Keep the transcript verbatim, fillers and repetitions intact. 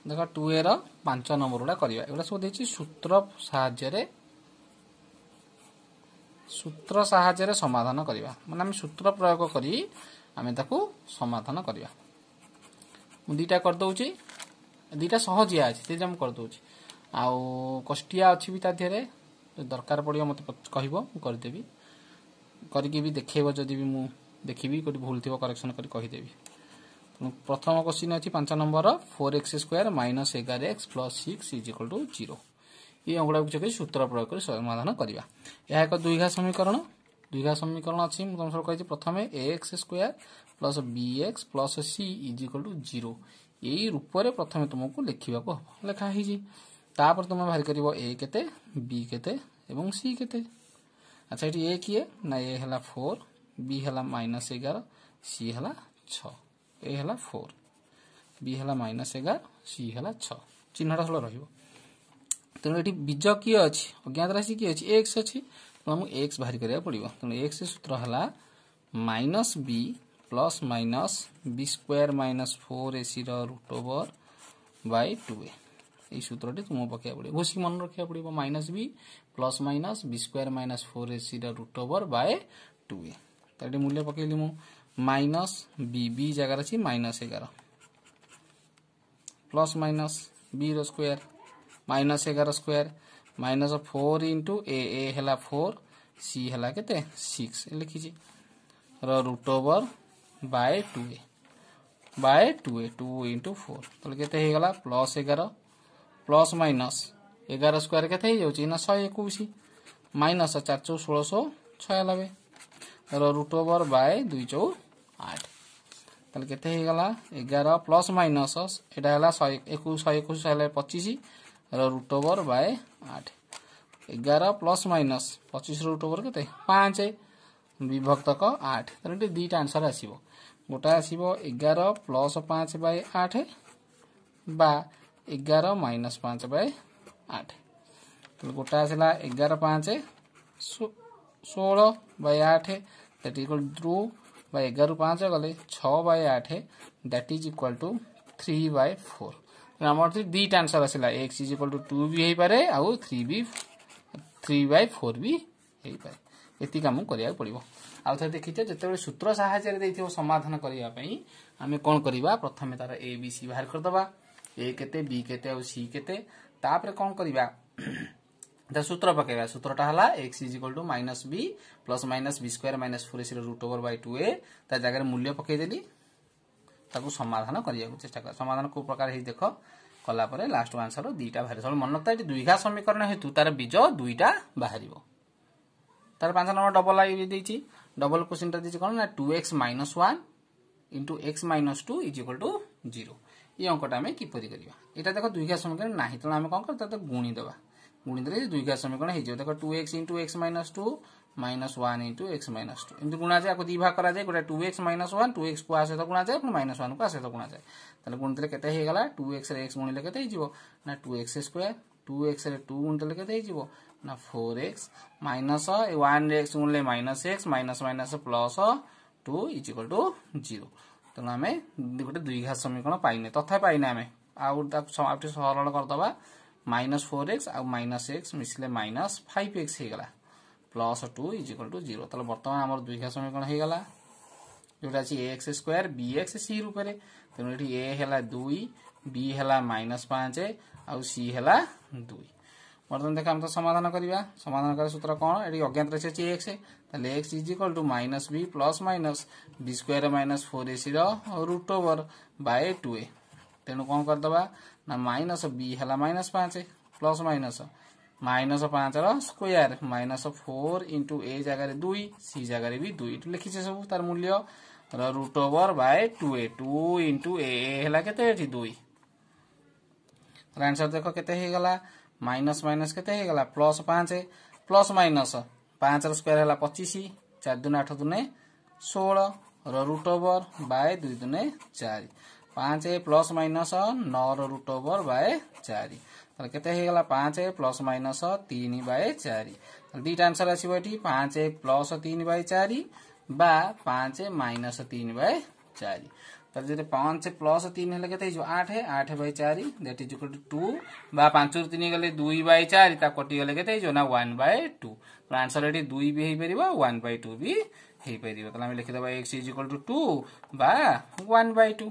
ଦେଖ ଟୁ ଏ ର ପାଞ୍ଚ ନମ୍ବର ଗୁଡ଼ା କରିବା ଏଗୁଡ଼ା ସବୁ ଦେଇଛି ସୂତ୍ର ସାହାଯ୍ୟରେ ସୂତ୍ର ସାହାଯ୍ୟରେ ସମାଧାନ କରିବା ମାନେ ଆମେ ସୂତ୍ର ପ୍ରୟୋଗ କରି ଆମେ ତାକୁ ସମାଧାନ କରିବା ମୁଁ ଦୁଇଟା କରିଦେଉଛି ଦୁଇଟା ସହଜିଆ ଅଛି ସେଇଟା ମୁଁ କରିଦେଉଛି ଆଉ କଷ୍ଟିଆ ଅଛି ବି ତା ଦେହରେ ଦରକାର ପଡ଼ିବ ମୋତେ କହିବ ମୁଁ କରିଦେବି କରିକି ବି ଦେଖେଇବ ଯଦି ବି ମୁଁ ଦେଖିବି କେଉଁଠି ଭୁଲ ଥିବ କରେକ୍ସନ୍ କରି କହିଦେବି ତେଣୁ ପ୍ରଥମ କୋଶ୍ଚିନ୍ ଅଛି ପାଞ୍ଚ number four X square minus ଏଗାର x plus six is equal to zero ଏଇ ଅଙ୍କଟାକୁ କିଛି ସୂତ୍ର ପ୍ରୟୋଗ କରି ସମାଧାନ କରିବା ଏହା ଏକ ଦ୍ୱିଘାତ ସମୀକରଣ ଦ୍ୱିଘାତ ସମୀକରଣ ଅଛି ମୁଁ ତମ ସବୁ କହିଛି ପ୍ରଥମେ a x square plus b x plus c is equal to zero ଏଇ ରୂପରେ ପ୍ରଥମେ ତୁମକୁ ଲେଖିବାକୁ ହେବ ଲେଖା ହେଇଛି ତାପରେ ତୁମେ ବାହାର କରିବ ଏ କେତେ ବି କେତେ ଏବଂ ସି କେତେ ଆଚ୍ଛା ଏଠି ଏ କିଏ ନା ଏ ହେଲା ଫୋର୍ ବି ହେଲା ମାଇନସ୍ ଏଗାର ସି ହେଲା ଛଅ ଏ ହେଲା ଫୋର୍ ବି ହେଲା ମାଇନସ୍ ଏଗାର ସି ହେଲା ଛଅ ଚିହ୍ନଟା ସବୁବେଳେ ରହିବ ତେଣୁ ଏଠି ବୀଜ କିଏ ଅଛି ଅଜ୍ଞାତ ରାଶି କିଏ ଅଛି ଏକ୍ସ ଅଛି ତେଣୁ ଆମକୁ ଏକ୍ସ ବାହାର କରିବାକୁ ପଡ଼ିବ ତେଣୁ ଏକ୍ସ ସୂତ୍ର ହେଲା minus b plus minus b square minus four ଏସିର root over by two a ଏଇ ସୂତ୍ରଟି ତୁମକୁ ପକାଇବାକୁ ପଡ଼ିବ ଘୋଷିକି ମନେ ରଖିବାକୁ ପଡ଼ିବ minus b plus minus b square minus four ଏସିର root over by two a ତ ଏଠି ମୂଲ୍ୟ ପକେଇଲି ମୁଁ ମାଇନସ୍ ବି ବି ଜାଗାରେ ଅଛି ମାଇନସ୍ ଏଗାର ପ୍ଲସ୍ ମାଇନସ୍ ବି ର ସ୍କୋୟାର ମାଇନସ୍ ଏଗାର square minus four into a a ହେଲା ଫୋର୍ ସି ହେଲା କେତେ ସିକ୍ସ ଲେଖିଛି ର root over by two a by two a two into four ତାହେଲେ କେତେ ହେଇଗଲା ପ୍ଲସ୍ ଏଗାର ପ୍ଲସ୍ ମାଇନସ୍ ଏଗାର ସ୍କୋୟାର କେତେ ହେଇଯାଉଛି ନା ଶହେ ଏକୋଇଶ ମାଇନସ୍ ଚାରି ଚଉ ଷୋଳଶହ ଛୟାନବେ ର ରୁଟ୍ ଓଭର ବାଇ ଦୁଇ ଚଉ ଆଠ ତାହେଲେ କେତେ ହେଇଗଲା ଏଗାର ପ୍ଲସ୍ ମାଇନସ୍ ଏଇଟା ହେଲା ଶହେ ଏକୋଇଶ ଶହେ ଏକୋଇଶ ହେଲା ପଚିଶ ର ରୁଟ୍ ଓଭର ବାଇ ଆଠ ଏଗାର ପ୍ଲସ୍ ମାଇନସ୍ ପଚିଶ ରୁଟ୍ ଓଭର କେତେ ପାଞ୍ଚ ବିଭକ୍ତକ ଆଠ ତାହେଲେ ଏଠି ଦୁଇଟା ଆନ୍ସର ଆସିବ ଗୋଟା ଆସିବ ଏଗାର ପ୍ଲସ୍ ପାଞ୍ଚ ବାଇ ଆଠ ବା ଏଗାର ମାଇନସ୍ ପାଞ୍ଚ ବାଇ ଆଠ ତାହେଲେ ଗୋଟା ଆସିଲା ଏଗାର ପାଞ୍ଚ ଷୋହଳ ବାଇ ଆଠ that equal to ବା ଏଗାରରୁ ପାଞ୍ଚ ଗଲେ ଛଅ ବାଇ ଆଠ that is equal to three by four ଆମର ଦୁଇଟା ଆନ୍ସର ଆସିଲା x is equal to two ବି ହେଇପାରେ ଆଉ ଥ୍ରୀ ବି ଥ୍ରୀ ବାଇ ଫୋର୍ ବି ହେଇପାରେ ଏତିକି ଆମକୁ କରିବାକୁ ପଡ଼ିବ ଆଉ ଥରେ ଦେଖିଛ ଯେତେବେଳେ ସୂତ୍ର ସାହାଯ୍ୟରେ ଦେଇଥିବ ସମାଧାନ କରିବା ପାଇଁ ଆମେ କ'ଣ କରିବା ପ୍ରଥମେ ତାର ଏ ବି ସି ବାହାର କରିଦେବା ଏ କେତେ ବି କେତେ ଆଉ ସି କେତେ ତାପରେ କ'ଣ କରିବା ତା ସୂତ୍ର ପକେଇବା ସୂତ୍ରଟା ହେଲା x is equal to minus b plus minus b square minus four ଏସିର root over by two a ତା ଜାଗାରେ ମୂଲ୍ୟ ପକେଇଦେଲି ତାକୁ ସମାଧାନ କରିବାକୁ ଚେଷ୍ଟା କର ସମାଧାନ କୋଉ ପ୍ରକାର ହେଇଛି ଦେଖ କଲା ପରେ ଲାଷ୍ଟ ଆନ୍ସର ଦୁଇଟା ବାହାରିବ ସବୁ ମନେ ରଖିଥା ଏଠି ଦ୍ୱିଘାତ ସମୀକରଣ ହେତୁ ତାର ବୀଜ ଦୁଇଟା ବାହାରିବ ତାର ପାଞ୍ଚ ନମ୍ବର ଡବଲ I ଦେଇଛି ଡବଲ କୋଶ୍ଚିନ୍ଟା ଦେଇଛି କ'ଣ ନା two x minus one into x minus two is equal to zero ଏଇ ଅଙ୍କଟା ଆମେ କିପରି କରିବା ଏଇଟା ଦେଖ ଦ୍ୱିଘାତ ସମୀକରଣ ନାହିଁ ତେଣୁ ଆମେ କ'ଣ କରିବା ତାକୁ ଗୁଣି ଦେବା ଗୁଣି ଦେଲେ ଦ୍ୱିଘାତ ସମୀକରଣ ହେଇଯିବ ଦେଖ two x into x minus two minus one into x minus two ଏମିତି ଗୁଣାଯାଏ ଆକୁ ଦୁଇ ଭାଗ କରାଯାଏ ଗୋଟେ two x minus one two x କୁ ଆ ସହିତ ଗୁଣାଯାଏ ପୁଣି ମାଇନସ୍ ୱାନ୍ କୁ ଆ ସହିତ ଗୁଣାଯାଏ ତାହେଲେ ଗୁଣିଦେଲେ କେତେ ହେଇଗଲା ଟୁ ଏକ୍ସ ରେ ଏକ୍ସ ଗୁଣିଲେ କେତେ ହେଇଯିବ ନା two x square two x ରେ ଟୁ ଗୁଣିଦେଲେ କେତେ ହେଇଯିବ ନା ଫୋର୍ ଏକ୍ସ ମାଇନସ୍ ୱାନ୍ ରେ X ଗୁଣିଲେ minus x minus minus plus two is equal to zero ତେଣୁ ଆମେ ଗୋଟେ ଦ୍ୱିଘାତ ସମୀକରଣ ପାଇନେ ତଥାପି ପାଇନେ ଆମେ ଆଉ ତାକୁ ଆଉ ଟିକେ ସରଳ କରିଦେବା ମାଇନସ୍ ଫୋର୍ ଏକ୍ସ ଆଉ ମାଇନସ୍ ଏକ୍ସ ମିଶିଲେ ମାଇନସ୍ ଫାଇଭ୍ ଏକ୍ସ ହେଇଗଲା plus two is equal to zero ତାହେଲେ ବର୍ତ୍ତମାନ ଆମର ଦ୍ୱିଘାତ ସମୀକରଣ ହେଇଗଲା ଯୋଉଟା ଅଛି a x square b x c ରୂପରେ ତେଣୁ ଏଠି ଏ ହେଲା ଦୁଇ ବି ହେଲା ମାଇନସ୍ ପାଞ୍ଚ ଆଉ ସି ହେଲା ଦୁଇ ବର୍ତ୍ତମାନ ଦେଖ ଆମେ ତ ସମାଧାନ କରିବା ସମାଧାନ କରିବା ସୂତ୍ର କ'ଣ ଏଠି ଅଜ୍ଞାତ ରାଶି ଅଛି ଏକ୍ସ ତାହେଲେ x is equal to minus b plus minus b square minus four ଏସିର root over by two a ତେଣୁ କ'ଣ କରିଦେବା ନା ମାଇନସ୍ ବି ହେଲା ମାଇନସ୍ ପାଞ୍ଚ ପ୍ଲସ୍ ମାଇନସ୍ ମାଇନସ୍ ପାଞ୍ଚର square minus four into A ଜାଗାରେ ଦୁଇ ସି ଜାଗାରେ ବି ଦୁଇ ଏଠୁ ଲେଖିଛେ ସବୁ ତାର ମୂଲ୍ୟ ର root over by two a two into a ହେଲା କେତେ ଏଠି ଦୁଇ ତାହେଲେ ଆନ୍ସର ଦେଖ କେତେ ହେଇଗଲା ମାଇନସ୍ ମାଇନସ୍ କେତେ ହେଇଗଲା ପ୍ଲସ୍ ପାଞ୍ଚ ପ୍ଲସ୍ ମାଇନସ୍ ପାଞ୍ଚର ସ୍କୋୟାର ହେଲା ପଚିଶ ଚାରି ଦୁନେ ଆଠ ଦୁନେ ଷୋହଳ ର ରୁଟ୍ ଓଭର ବାଇ ଦୁଇ ଦୁନେ ଚାରି ପାଞ୍ଚ ପ୍ଲସ୍ ମାଇନସ୍ ନଅର ରୁଟ୍ ଓଭର ବାଇ ଚାରି ତାହେଲେ କେତେ ହେଇଗଲା ପାଞ୍ଚ ପ୍ଲସ୍ ମାଇନସ୍ ତିନି ବାଇ ଚାରି ତାହେଲେ ଦୁଇଟା ଆନ୍ସର ଆସିବ ଏଠି ପାଞ୍ଚ ପ୍ଲସ୍ ତିନି ବାଇ ଚାରି ବା ପାଞ୍ଚ ମାଇନସ୍ ତିନି ବାଇ ଚାରି ତାହେଲେ ଯଦି ପାଞ୍ଚ ପ୍ଲସ୍ ତିନି ହେଲେ କେତେ ହେଇଯିବ ଆଠ ଆଠ ବାଇ ଚାରି that is equal to two ବା ପାଞ୍ଚରୁ ତିନି ଗଲେ ଦୁଇ ବାଇ ଚାରି ତା କଟିଗଲେ କେତେ ହେଇଯିବ ନା ୱାନ୍ ବାଇ ଟୁ ଆନ୍ସର ଏଠି ଦୁଇ ବି ହେଇପାରିବ ୱାନ୍ ବାଇ ଟୁ ବି ହେଇପାରିବ ତାହେଲେ ଆମେ ଲେଖିଦେବା x is equal to two ବା ୱାନ୍ ବାଇ ଟୁ